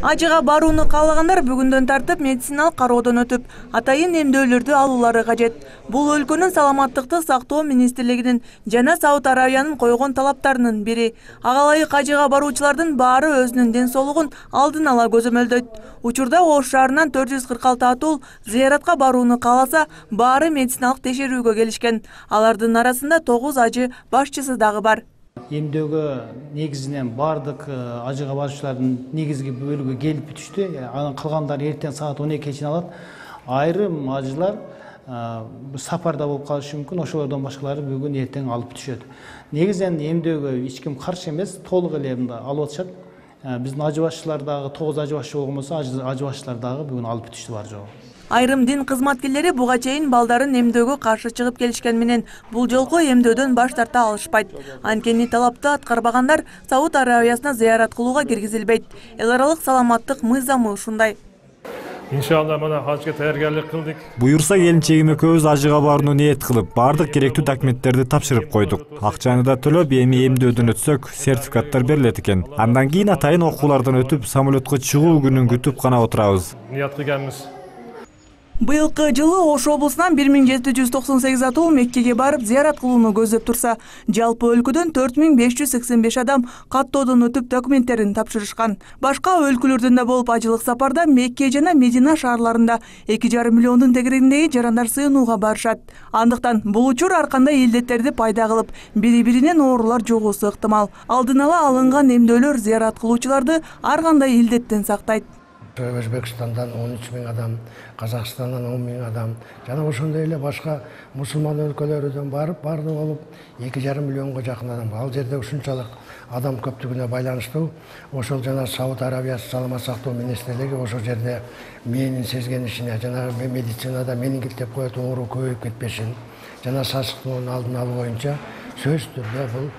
Ажыга барууну каалагандар бүгүндөн тартып медициналык кароодон өтүп, атайын эмдөөлөрдү алуулары кажет. Бул өлкөнүн саламаттыкты сактоо министрлигинин жана Сауд Аравиянын койгон талаптарынын бири. Ага ылайык ажыга баруучулардын баары өзүнүн ден соолугун алдын ала көзөмөлдөйт. Учурда Ош шаарынан 446 атул зыяратка барууну кааласа, баары медициналык текшерүүгө келишкен. Алардын арасында 9 ажы башчысы дагы бар. Эмдөөгө негизинен бардык ажыга баруучулардын негизги бөлүгү келип бүтүштү. Анын калгандары эртең саат 12 чейин алат. Айрым ажылар сапарда болуп калышы мүмкүн. Ошолордон башкалары бүгүн эртең алып бүтүшөт. Негизинен эмдөөгө эч ким каршы эмес, толук эле алып атышат. Биздин ажы башчылар дагы 9 ажы башчы болгон болсо, ажы башчылар дагы бүгүн алып бүтүштү бар жогу. Айрым дин кызматкерлери буга чейин балдарын эмдөөгө каршы чыгып келишкен менен бул жолку эмдөөдөн баш тарта алышпайт. Анткени талапты аткарбагандар Сауд Аравиясына зыярат кылууга киргизилбейт. Эл аралык саламаттык мыйзамы ушундай. Иншалла мына хажга даяргарлык кылдык. Буюрса келинчегим экөөбүз ажыга барууну ниет кылып, бардык керектүү документтерди тапшырып койдук. Акчаны да төлөп, эми эмдөөдөн өтсөк, сертификаттар берилет экен. Андан кийин атайын окуулардан өтүп, самолетко чыгуу күнүн күтүп гана отурабыз. Ният кылганбыз. Быйылкы жылы Ош облусунан 1798 атул Меккеге барып зыярат кылууну көздөп турса, жалпы өлкөдөн 4585 адам каттоодон өтүп документтерин тапшырышкан. Башка өлкөлөрдөн да болуп ажылык сапарда Мекке жана Медина шаарларында 2,5 миллиондун тегерегиндеги жарандар сыйынууга барышат. Андыктан бул учур ар кандай илдеттерди пайда кылып, бири-биринен оорулар жугуусу ыктымал. Алдын ала алынган эмдөөлөр зыярат кылуучуларды ар кандай илдеттен сактайт. Өзбекстандан 13 000 адам, Казакстандан 10 000 адам, жана ошондой эле башка мусулман өлкөлөрдөн барып, барды болуп 2,5 миллионго жакын адам. Ал жерде ушунчалык адам көптүгүнө байланыштуу, ошол жана Сауд Аравиясы саламат сактоо министрлиги ошол жерде менин сезгенишине, жана медицинада менингит деп коет оору көбөйүп кетпешин, жана сасыктоонун алдын алуу боюнча сөзсүз түрдө бул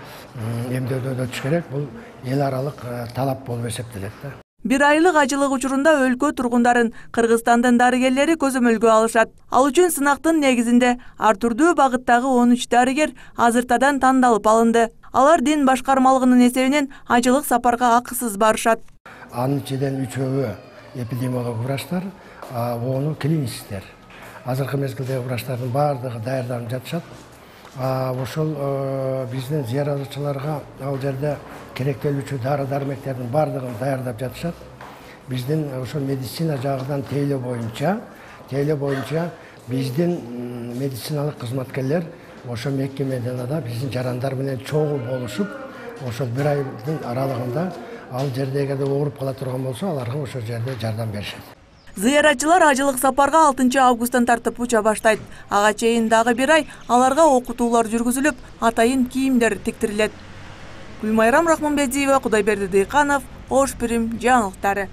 эмдөөдөн өтүш керек. Бул эл аралык талап болуп эсептелет да. Bir айлык ажылык учурунда өлкө тургундарын Кыргызстандын дарыгерлери көзөмөлгө алышат. Ал үчүн сынактын негизинде ар түрдүү багыттагы 13 дарыгер азыртадан тандалып алынды. Алар дин башкармалыгынын эсебинен ажылык сапарга акысыз барышат. Анын ичинен 3-өө эпидемиолог врачтар, 10-у клиницисттер. Азыркы мезгилде врачтардын баардыгы даярданып жатышат. Ошол биздин зыяратчыларга ал жерде керектелүүчү дары-дармектердин баардыгын даярдап жатышат. Биздин ошол медицина жагынан тейлөө боюнча биздин медициналык кызматкерлер ошо Мекке Мединада биздин жарандар менен чогуу болушуп, ошол bir айдын аралыгында ал жерде эгерде ооруп кала турган болсо, аларга ошол жерде жардам беришет. Зыяратчылар ажылык сапарга 6 августтан тартып уча баштайт. Ага чейин дагы 1 ай аларга окутуулар жүргүзүлүп, атайын кийимдер тиктирилет. Гүлмайрам Рахманбердиева, Кудайберди Дыйканов, Ош Пирим жаңылыктары.